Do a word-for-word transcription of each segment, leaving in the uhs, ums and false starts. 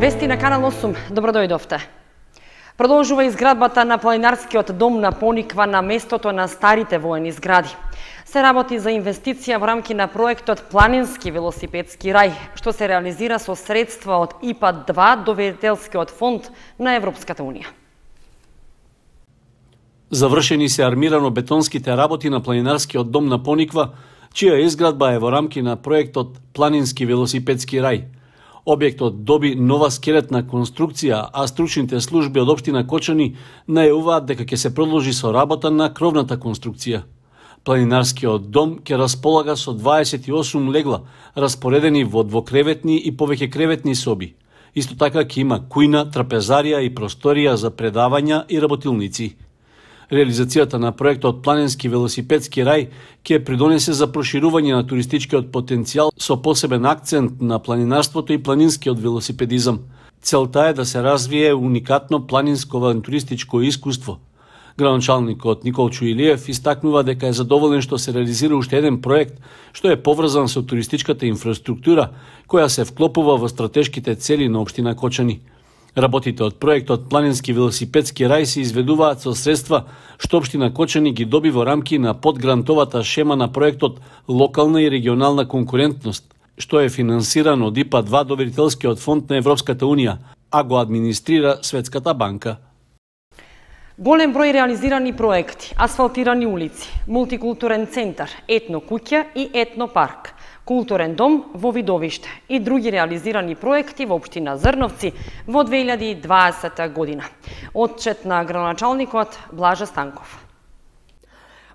Вести на Канал осум, добро дојдовте. Продолжува изградбата на планинарскиот дом на Пониква на местото на старите воени згради. Се работи за инвестиција во рамки на проектот Планински велосипедски рај, што се реализира со средства од И П А два доверителскиот фонд на Европската унија. Завршени се армирано-бетонските работи на планинарскиот дом на Пониква, чија изградба е во рамки на проектот Планински велосипедски рај. Објектот доби нова скелетна конструкција, а стручните служби од општина Кочани најавуваат дека ќе се продолжи со работа на кровната конструкција. Планинарскиот дом ќе располага со дваесет и осум легла, распоредени во двокреветни и повеќе креветни соби. Исто така ќе има кујна, трапезарија и просторија за предавања и работилници. Реализацијата на проектот Планински велосипедски рај ќе придонесе за проширување на туристичкиот потенцијал со посебен акцент на планинарството и планинскиот велосипедизам. Целта е да се развие уникатно планинско авантуристичко искуство. Градоначалникот Николчо Илиев истакнува дека е задоволен што се реализира уште еден проект што е поврзан со туристичката инфраструктура која се вклопува во стратешките цели на општина Кочани. Работите од проектот Планински велосипедски рај се изведуваат со средства што општина Кочани ги доби во рамки на подгрантовата шема на проектот Локална и регионална конкурентност, што е финансиран од И П А два доверителскиот фонд на Европската унија, а го администрира Светската банка. Голем број реализирани проекти, асфалтирани улици, мултикултурен центар, етно куќа и етно парк, културен дом во Видовиште и други реализирани проекти во општина Зрновци во две илјади и дваесета година. Отчет на градоначалникот Блажа Станков.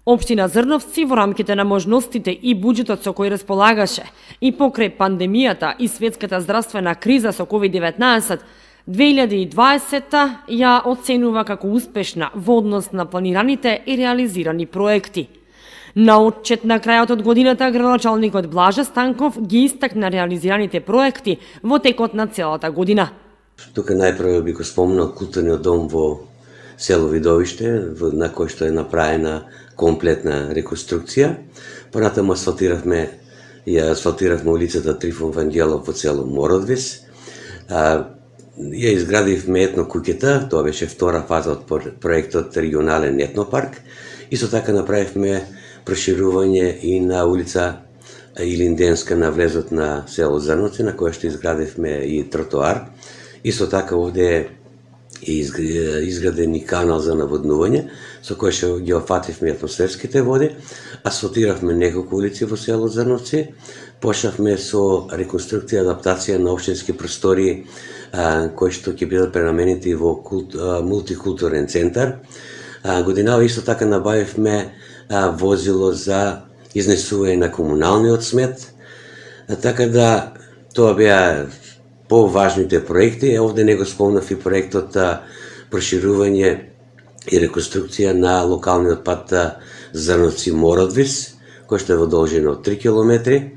Општина Зрновци во рамките на можностите и буџетот со кој располагаше и покрај пандемијата и светската здравствена криза со ковид деветнаесет, две илјади и дваесета ја оценува како успешна во однос на планираните и реализирани проекти. На отчет на крајот од годината, градоначалникот Блажа Станков ги истакна реализираните проекти во текот на целата година. Тука најпрво би го спомнал културниот дом во село Видовиште, на кој што е направена комплетна реконструкција. Понатаму асфалтиравме, ја асфалтиравме улицата Трифон Вангелов во село Мородвис. Ја изградивме етно куќата, тоа беше втора фаза од проектот регионален етнопарк. Исто така направивме проширување и на улица Илинденска на влезот на село Зрновци, на која што изградивме и тротоар. Исто така овде е изграден и канал за наводнување, со кој што ги офативме атмосферските води, асфалтиравме неколку улици во село Зрновци, почнавме со реконструкција и адаптација на општински простори кои што ќе бидат пренаменети во култ, мултикултурен центар. Годинава исто така набавивме возило за изнесување на комуналниот смет, така да тоа беа поважните проекти. Овде не го спомнав и проектот проширување и реконструкција на локалниот пат Зрновци-Мородвис, кој што е во должина од три километри.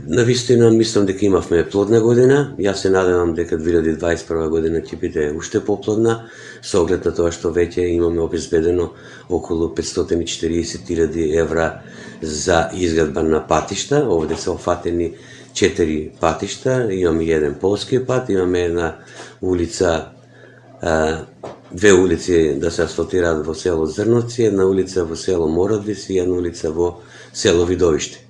Навистина мислам дека имавме плодна година. Јас се надевам дека две илјади и дваесет и прва година ќе биде уште поплодна, со оглед на тоа што веќе имаме обезбедено околу петстотини и четириесет илјади евра за изградба на патишта. Овде се офатени четири патишта, имаме еден полски пат, имаме една улица, две улици да се асфалтираат во село Зрновци, една улица во село Мородвис и една улица во село Видовиште.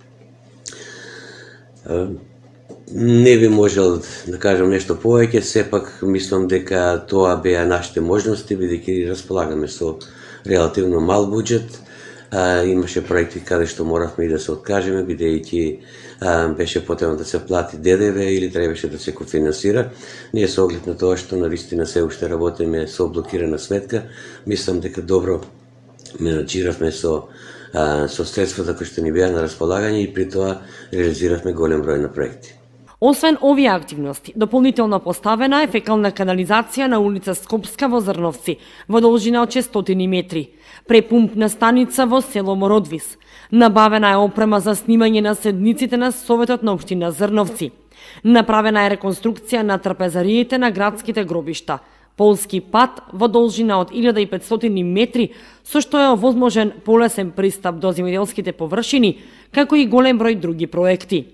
Не би можел да кажам нешто повеќе, сепак мислам дека тоа беа нашите можности, бидејќи располагаме со релативно мал буџет. Имаше проекти каде што моравме и да се откажеме, бидејќи беше потребно да се плати Д Д В или требаше да се кофинансира. Ние со оглед на тоа што навистина се уште работиме со блокирана сметка, мислам дека добро менаџиравме со со средствата кои што ни беа на располагање и при тоа реализиравме голем број на проекти. Освен овие активности, дополнително поставена е фекална канализација на улица Скопска во Зрновци, во должина од шестстотини метри, препумпна станица во село Мородвис. Набавена е опрема за снимање на седниците на Советот на општина Зрновци. Направена е реконструкција на трапезариите на градските гробишта. Полски пат во должина од илјада и петстотини метри, со што е овозможен полесен пристап до земјоделските површини, како и голем број други проекти.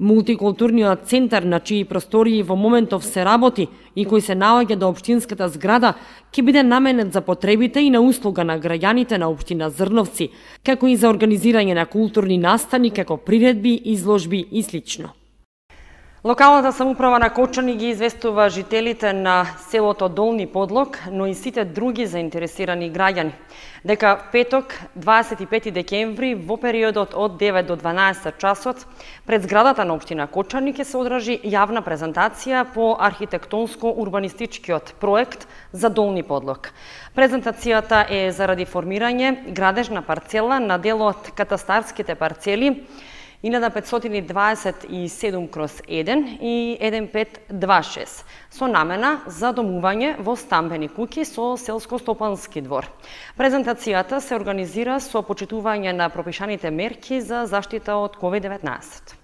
Мултикултурниот центар, на чии простории во моментов се работи и кој се наоѓа до општинската зграда, ќе биде наменет за потребите и на услуга на граѓаните на општина Зрновци, како и за организирање на културни настани, како приредби, изложби и слично. Локалната самоуправа на Кочани ги известува жителите на селото Долни Подлог, но и сите други заинтересирани граѓани, дека петок, дваесет и пети декември, во периодот од девет до дванаесет часот, пред зградата на општина Кочани ќе се одржи јавна презентација по архитектонско-урбанистичкиот проект за Долни Подлог. Презентацијата е заради формирање градежна парцела на дел од катастарските парцели илјада петстотини дваесет и седум кроз еден и еден пет два шест, со намена за домување во стамбени куќи со селско-стопански двор. Презентацијата се организира со почитување на пропишаните мерки за заштита од ковид деветнаесет.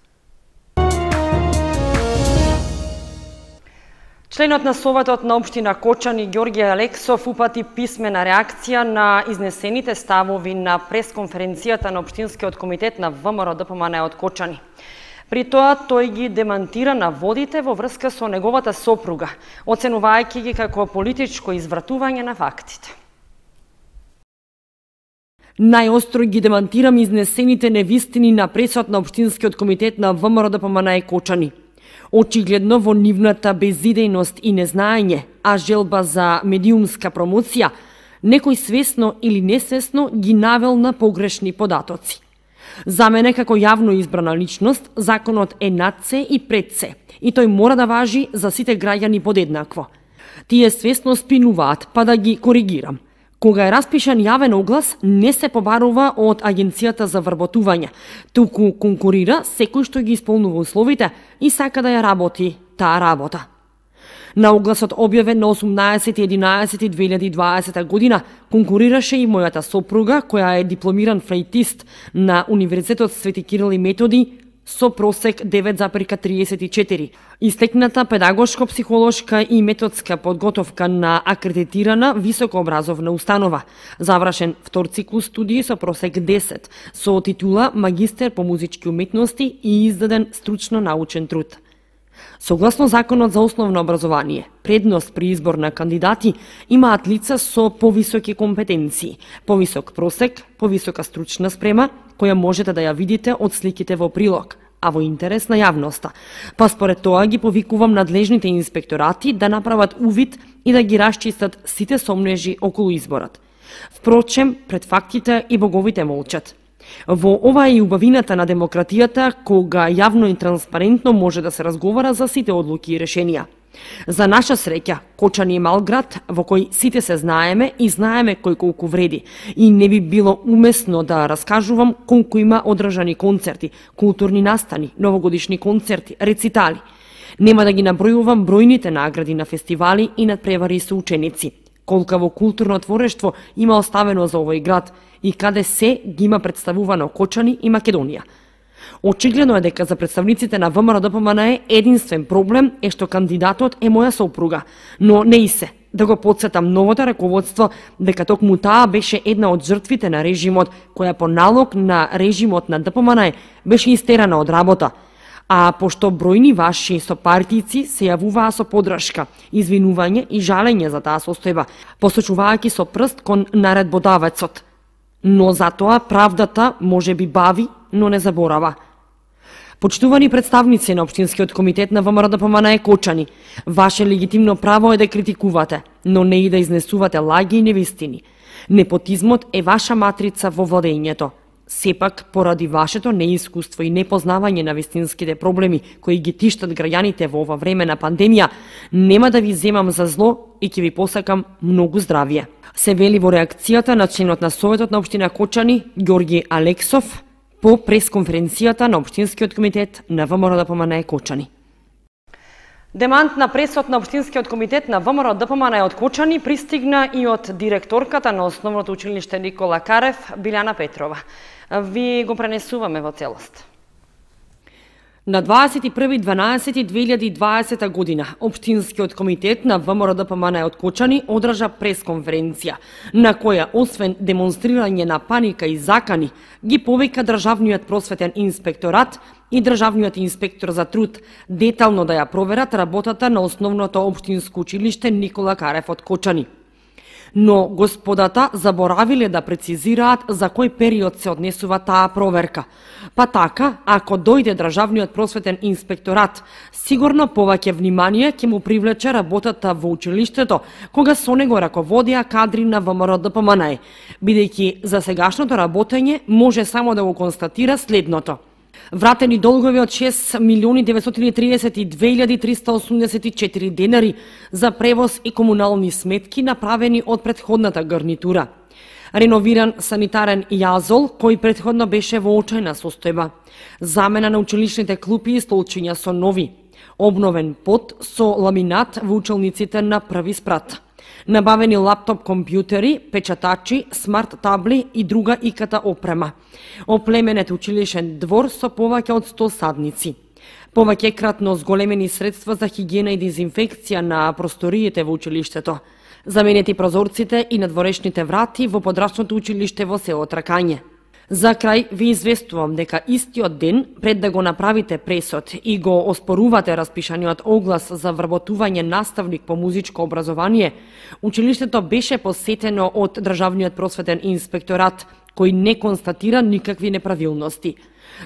Членот на Советот на општина Кочани Ѓорѓе Алексов упати писмена реакција на изнесените ставови на пресконференцијата на Општинскиот комитет на ВМРО Д П М Н од Кочани. При тоа тој ги демантира наводите во врска со неговата сопруга, оценувајќи ги како политичко извратување на фактите. Најостро ги демантирам изнесените невистини на пресот на Општинскиот комитет на ВМРО Д П М Н Кочани. Очигледно во нивната безидејност и незнаење, а желба за медиумска промоција, некој свесно или несвесно ги навел на погрешни податоци. За мене како јавно избрана личност, законот е над се и пред се, и тој мора да важи за сите граѓани подеднакво. Тие свесно спинуваат, па да ги коригирам. Кога е распишан јавен оглас, не се побарува од Агенцијата за вработување, туку конкурира секој што ги исполнува условите и сака да ја работи таа работа. На огласот објавен на осумнаесети единаесети две илјади и дваесета година конкурираше и мојата сопруга, која е дипломиран флейтист на Универзитетот Свети Кирил и Методи, со просек девет зарез триесет и четири. Истекната педагошко-психолошка и методска подготовка на акредитирана високообразовна установа. Завршен втор циклус студии со просек десет, со титула магистер по музички уметности и издаден стручно научен труд. Согласно Законот за основно образование, предност при избор на кандидати имаат лица со повисоки компетенции, повисок просек, повисока стручна спрема, која можете да ја видите од сликите во прилог, а во интерес на јавноста. Па според тоа ги повикувам надлежните инспекторати да направат увид и да ги расчистат сите сомнежи околу изборот. Впрочем, пред фактите и боговите молчат. Во ова е и убавината на демократијата, кога јавно и транспарентно може да се разговара за сите одлуки и решенија. За наша среќа, Кочани е мал град во кој сите се знаеме и знаеме кој колку вреди, и не би било умесно да раскажувам колку има одржани концерти, културни настани, новогодишни концерти, рецитали. Нема да ги набројувам бројните награди на фестивали и надпревари со ученици. Колкаво културно творештво има оставено за овој град и каде се ги има представувано Кочани и Македонија. Очигледно е дека за представниците на ВМРО Д П М Н единствен проблем е што кандидатот е моја сопруга, но не и се. Да го подсетам новото раководство дека токму таа беше една од жртвите на режимот, која по налог на режимот на Д П М Н беше истерана од работа. А пошто бројни ваши сопартици се јавуваа со подршка, извинување и жалење за таа состојба, посочувајќи со прст кон наредбодавецот. Но затоа правдата може би бави, но не заборава. Почитувани представници на Општинскиот комитет на ВМРО Д П М Н Кочани, ваше легитимно право е да критикувате, но не и да изнесувате лаги и невистини. Непотизмот е ваша матрица во владењето. Сепак, поради вашето неискуство и непознавање на вистинските проблеми кои ги тиштат граѓаните во ова време на пандемија, нема да ви земам за зло и ќе ви посакам многу здравје. Се вели во реакцијата на членот на Советот на општина Кочани, Ѓорѓе Алексов, по пресконференцијата на Општинскиот комитет на ВМРО Д П М Н Кочани. Демант на пресот на Општинскиот комитет на ВМРО Д П М Н од Кочани пристигна и од директорката на Основното училиште Никола Карев, Билјана Петрова. Ви го пренесуваме во целост. На дваесет и први дванаесети две илјади и дваесета година, Општинскиот комитет на ВМРО-ДПМН од Кочани одржа пресконференција, на која, освен демонстрирање на паника и закани, ги повика Државниот просветен инспекторат и Државниот инспектор за труд детално да ја проверат работата на основното општинско училиште Никола Карев од Кочани. Но господата заборавиле да прецизираат за кој период се однесува таа проверка. Па така, ако дојде Државниот просветен инспекторат, сигурно повеќе внимание ќе му привлече работата во училиштето, кога со него раководија кадри на ВМРО-ДПМН, бидејќи за сегашното работење може само да го констатира следното: вратени долгови од шест милиони деветстотини и триесет и две илјади триста осумдесет и четири денари за превоз и комунални сметки направени од претходната гарнитура. Реновиран санитарен јазол, кој претходно беше во очајна состојба. Замена на училишните клупи и столчиња со нови. Обновен пот со ламинат во училниците на први спрат. Набавени лаптоп компјутери, печатачи, смарт табли и друга и ка те опрема. Оплеменет училишен двор со повеќе од сто садници. Повеќе кратно зголемени средства за хигиена и дезинфекција на просториите во училиштето. Заменети прозорците и надворешните врати во подрачното училиште во село Тракање. За крај ви известувам дека истиот ден, пред да го направите пресод и го оспорувате распишаниот оглас за вработување наставник по музичко образование, училиштето беше посетено од Државниот просветен инспекторат, кој не констатира никакви неправилности.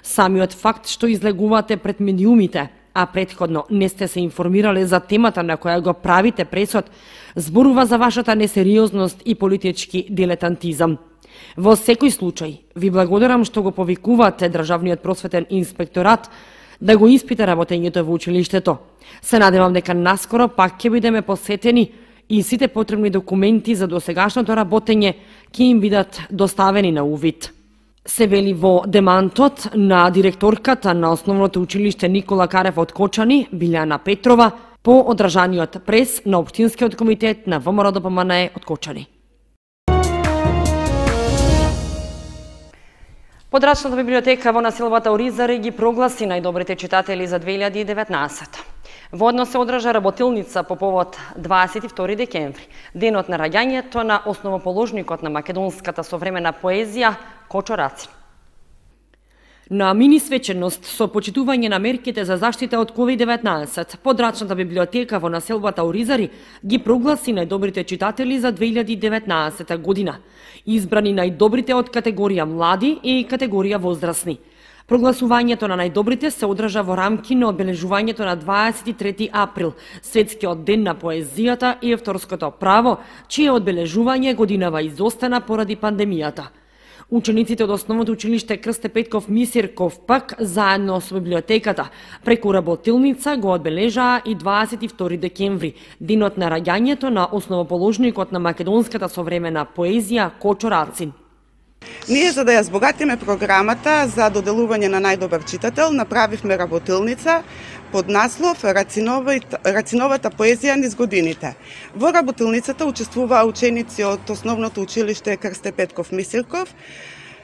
Самиот факт што излегувате пред медиумите, а претходно не сте се информирале за темата на која го правите пресод, зборува за вашата несериозност и политички дилетантизам. Во секој случај, ви благодарам што го повикувате Државниот просветен инспекторат да го испита работењето во училиштето. Се надевам дека наскоро пак ќе бидеме посетени и сите потребни документи за досегашното работење ќе им бидат доставени на увид. Се вели во демантот на директорката на Основното училиште Никола Карев од Кочани, Билјана Петрова, по одржаниот прес на Општинскиот комитет на ВМРО-ДПМН од Кочани. Подрачната библиотека во населбата Оризари ги прогласи најдобрите читатели за две илјади и деветнаесета. Водно се одржа работилница по повод дваесет и втори декември, денот на раѓањето на основоположникот на македонската современа поезија Кочо Рацин. На мини свеченост со почитување на мерките за заштита од ковид деветнаесет, подрачната библиотека во населбата Оризари ги прогласи најдобрите читатели за две илјади и деветнаесета година, избрани најдобрите од категорија млади и категорија возрастни. Прогласувањето на најдобрите се одржа во рамки на одбележувањето на дваесет и трети април, Светскиот ден на поезијата и авторското право, чие одбележување годинава изостана поради пандемијата. Учениците од Основното училиште Крсте Петков Мисирков пак, заедно со библиотеката, преку работилница го одбележаа и дваесет и втори декември, денот на раѓањето на основоположникот на македонската современа поезија Кочо Рацин. Ние, за да ја збогатиме програмата за доделување на најдобар читател, направивме работилница под наслов Рациновата поезија низ годините. Во работилницата учествуваа ученици од Основното училиште Крсте Петков Мисирков.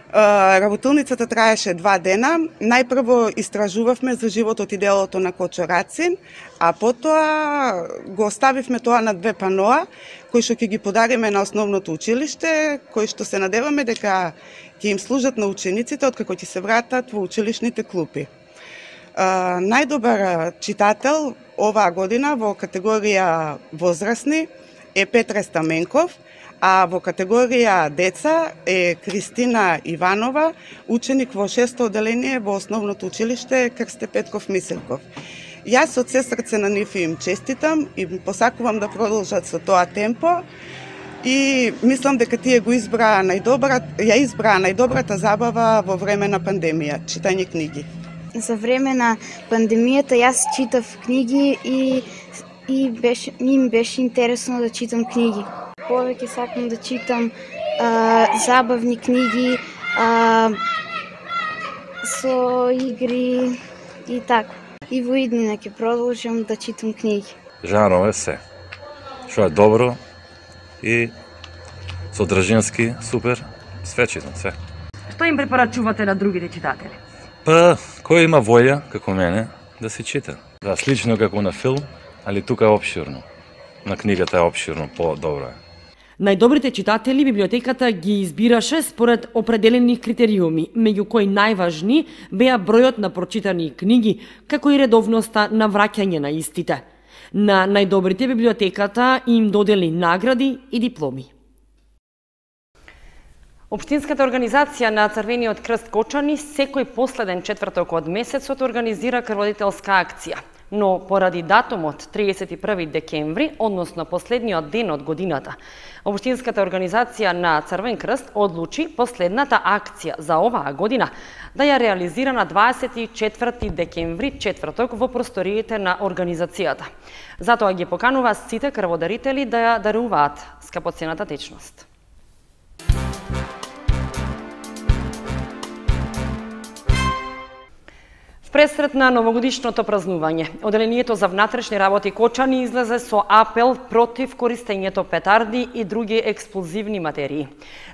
Работилницата траеше два дена. Најпрво истражувавме за животот и делото на Кочо Рацин, а потоа го оставивме тоа на две паноа, кои што ќе ги подариме на Основното училиште, кои што се надеваме дека ќе им служат на учениците откако ќе се вратат во училишните клупи. Најдобар читател оваа година во категорија возрастни е Петре Стаменков, а во категорија деца е Кристина Иванова, ученик во шесто оделение во Основното училиште Крсте Петков Мисирков. Јас од се срце на нив им честитам и посакувам да продолжат со тоа темпо и мислам дека тие го избраа најдобра, ја избраа најдобрата забава во време на пандемија, читање книги. За време на пандемијата јас читав книги и и беше ми беше интересно да читам книги. Повеќе сакам да читам а, забавни книги а, со игри и така. И во иднина ќе продолжам да читам книги. Жанрово е се. Што е добро и содржински супер, све читам, све. Што им препорачувате на другите читатели? Па, кој има волја, како мене, да се чита. Да, слично како на филм, али тука е опширно. На книгата е опширно, по-добро е. Најдобрите читатели библиотеката ги избираше според определени критериуми, меѓу кои најважни беа бројот на прочитани книги, како и редовноста на враќање на истите. На најдобрите библиотеката им додели награди и дипломи. Општинската организација на Црвениот крст Кочани секој последен четврток од месецот организира крводителска акција. Но поради датумот триесет и први декември, односно последниот ден од годината, Општинската организација на Црвен крст одлучи последната акција за оваа година да ја реализира на дваесет и четврти декември, четврток, во просториите на организацијата. Затоа ги поканува сите крводарители да ја даруваат скапоцената течност. В пресрет на новогодишното празнување, Оделението за внатрешни работи Кочани излезе со апел против користењето петарди и други експлозивни материи.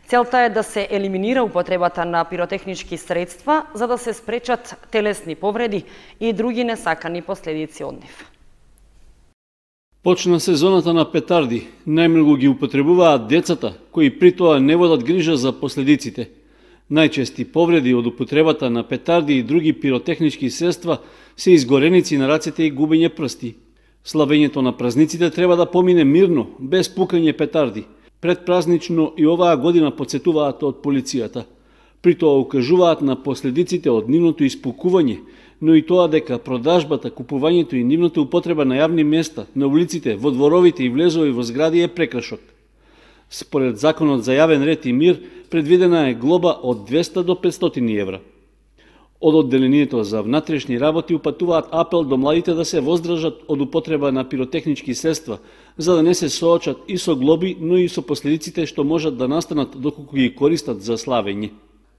Целта е да се елиминира употребата на пиротехнички средства за да се спречат телесни повреди и други несакани последици од нив. Почна сезоната на петарди. Најмногу ги употребуваат децата, кои при тоа не водат грижа за последиците. Најчести повреди од употребата на петарди и други пиротехнички средства се изгореници на рацете и губење прсти. Славењето на празниците треба да помине мирно, без пукање петарди. Предпразнично и оваа година подсетуваат од полицијата. При тоа укажуваат на последиците од нивното испукување, но и тоа дека продажбата, купувањето и нивната употреба на јавни места, на улиците, во дворовите и влезови во згради е прекршок. Според Законот за јавен ред и мир, предвидена е глоба од двесте до петстотини евра. Од Одделението за внатрешни работи упатуваат апел до младите да се воздржат од употреба на пиротехнички средства, за да не се соочат и со глоби, но и со последиците што можат да настанат доколку ги користат за славење.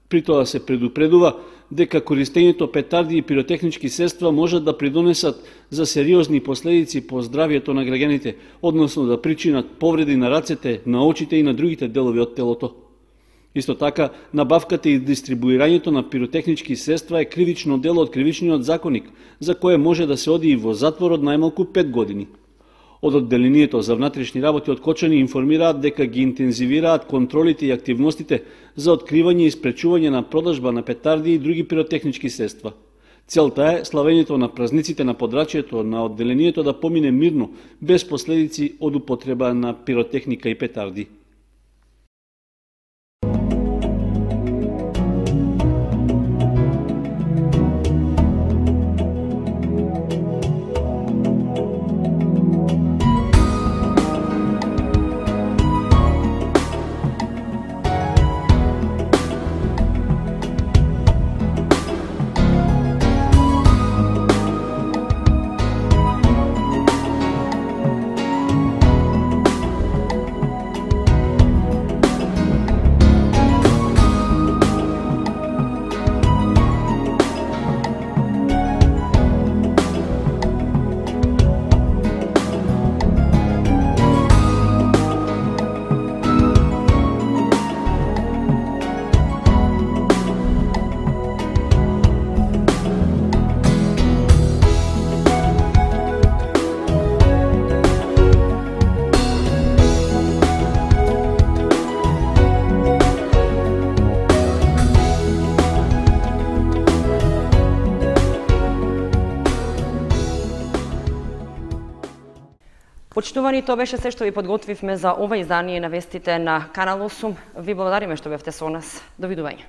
При тоа се предупредува дека користењето петарди и пиротехнички средства можат да придонесат за сериозни последици по здравјето на граѓаните, односно да причинат повреди на рацете, на очите и на другите делови од телото. Исто така, набавката и дистрибуирањето на пиротехнички средства е кривично дело од кривичниот законник, за кое може да се оди и во затвор од најмалку пет години. Од Одделението за внатрешни работи од Кочани информираат дека ги интензивираат контролите и активностите за откривање и спречување на продажба на петарди и други пиротехнички средства. Целта е славењето на празниците на подрачјето на Одделението да помине мирно, без последици од употреба на пиротехника и петарди. Почитувани, тоа беше се што ви подготвивме за ова издание на вестите на Канал осум. Ви благодариме што бевте со нас. Довидување.